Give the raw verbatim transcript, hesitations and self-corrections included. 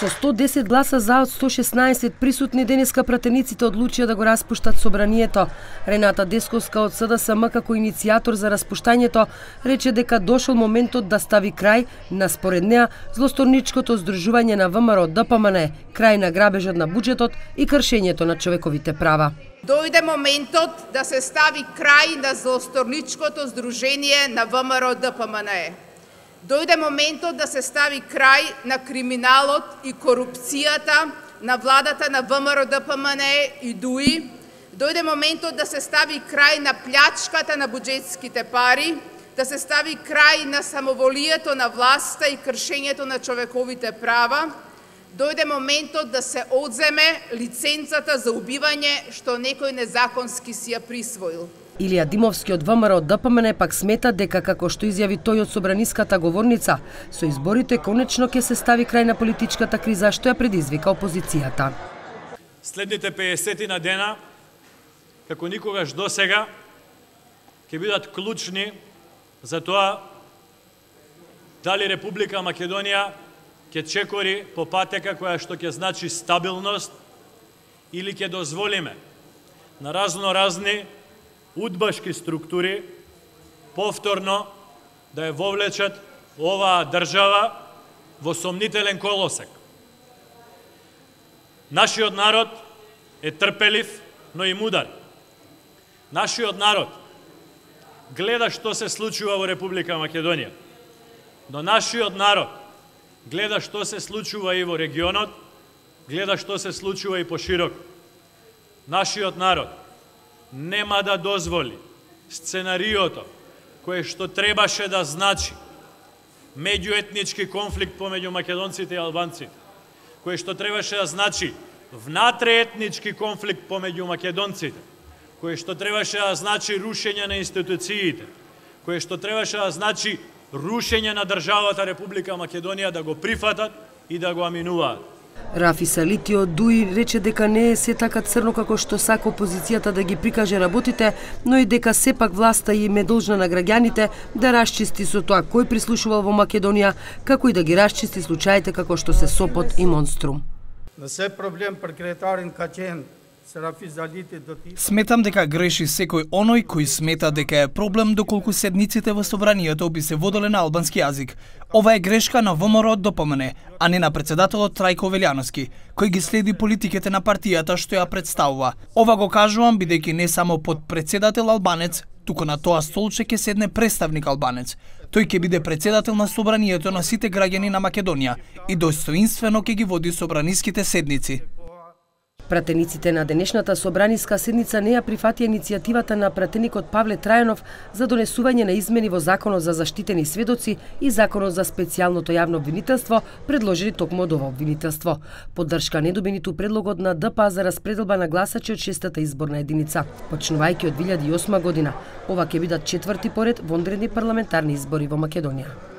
Со сто десет гласа за од сто шеснаесет присутни денеска пратениците одлучија да го распуштат собранието. Рената Десковска од СДСМ како иницијатор за распуштањето рече дека дошол моментот да стави крај на според неа злосторничкото здружување на ВМРО ДПМН, крај на грабежот на буџетот и кршењето на човековите права. Дојде моментот да се стави крај на злосторничкото здружение на ВМРО ДПМН. Дојде моментот да се стави крај на криминалот и корупцијата на владата на ВМРО ДПМН и ДУИ. Дојде моментот да се стави крај на плячката на буџетските пари, да се стави крај на самоволието на власта и кршењето на човековите права. Дојде моментот да се одземе лиценцата за убивање што некој незаконски си ја присвоил. Илија Димовски од ВМРО ДПМН пак смета дека, како што изјави тој од собраниската говорница, со изборите конечно ќе се стави крај на политичката криза што ја предизвика опозицијата. Следните пеесет дена, како никогаш досега, ќе бидат клучни за тоа дали Република Македонија ќе чекори по патека која што ќе значи стабилност или ќе дозволиме на разно разни удбашки структури повторно да ја вовлечат оваа држава во сомнителен колосек. Нашиот народ е трпелив, но и мудар. Нашиот народ гледа што се случува во Република Македонија, но нашиот народ гледа што се случува и во регионот, гледа што се случува и поширок. Нашиот народ нема да дозволи сценариото кое што требаше да значи меѓуетнички конфликт помеѓу македонците и албанците, кое што требаше да значи внатреетнички конфликт помеѓу македонците, кое што требаше да значи рушење на институциите, кое што требаше да значи рушење на државата Република Македонија, да го прифатат и да го аминуваат. Рафи Салити од ДУИ рече дека не е се така црно како што сака опозицијата да ги прикаже работите, но и дека сепак власта им е должна на граѓаните да расчисти со тоа кој прислушувал во Македонија, како и да ги расчисти случаите како што се Сопот и Монструм. На се проблем прекретарен качен Сметам дека греши секој оној кој смета дека е проблем доколку седниците во собранието би се воделе на албански јазик. Ова е грешка на ВМРО ДПМН, а не на председателот Трајко Велјановски, кој ги следи политиките на партијата што ја представува. Ова го кажувам бидејќи не само под председател албанец, туку на тоа столче ќе седне представник албанец. Тој ќе биде председател на собранието на сите граѓани на Македонија и достоинствено ќе ги води собраниските седници. Пратениците на денешната собраниска седница не ја прифатија иницијативата на пратеникот Павле Трајанов за донесување на измени во Законот за заштитени сведоци и Законот за специјалното јавно обвинителство, предложени токму од ова обвинителство. Поддршка не доби ниту предлогот на ДПА за распределба на гласачи од шестата изборна единица, почнувајќи од две илјади и осма година. Ова ќе бидат четврти поред вонредни парламентарни избори во Македонија.